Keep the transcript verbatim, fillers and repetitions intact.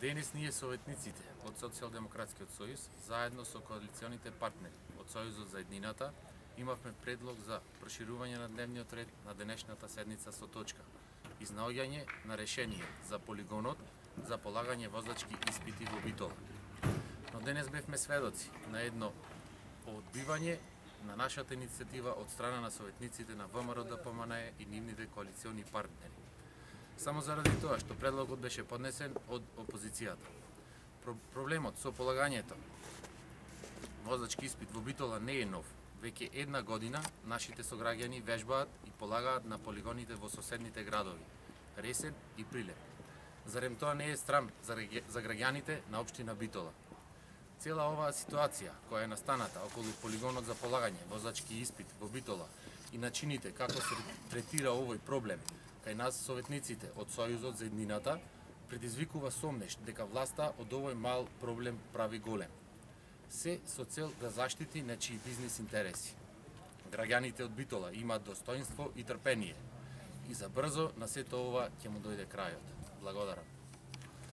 Денес ние советниците од Социјалдемократскиот сојуз, заедно со коалиционите партнери од Сојузот за еднината, имавме предлог за проширување на дневниот ред на денешната седница со точка изнаоѓање на решение за полигонот за полагање возачки испити во Битола. Но денес бевме сведоци на едно одбивање на нашата иницијатива од страна на советниците на ВМРО Д П М Н Е и нивните коалициони партнери. Само заради тоа што предлогот беше поднесен од опозицијата. Про проблемот со полагањето возачки испит во Битола не е нов. Веќе една година нашите сограѓани вежбаат и полагаат на полигоните во соседните градови Ресен и Прилеп. Зарем тоа не е срам за, за граѓаните на општина Битола? Цела оваа ситуација која е настаната околу полигонот за полагање возачки испит во Битола и начините како се третира овој проблем кај нас советниците од Сојузот за еднината предизвикува сомнеш дека власта од овој мал проблем прави голем. Се со цел да заштити нечии бизнис интереси. Граѓаните од Битола имаат достоинство и трпение и за брзо на сето ова ќе му дојде крајот. Благодарам.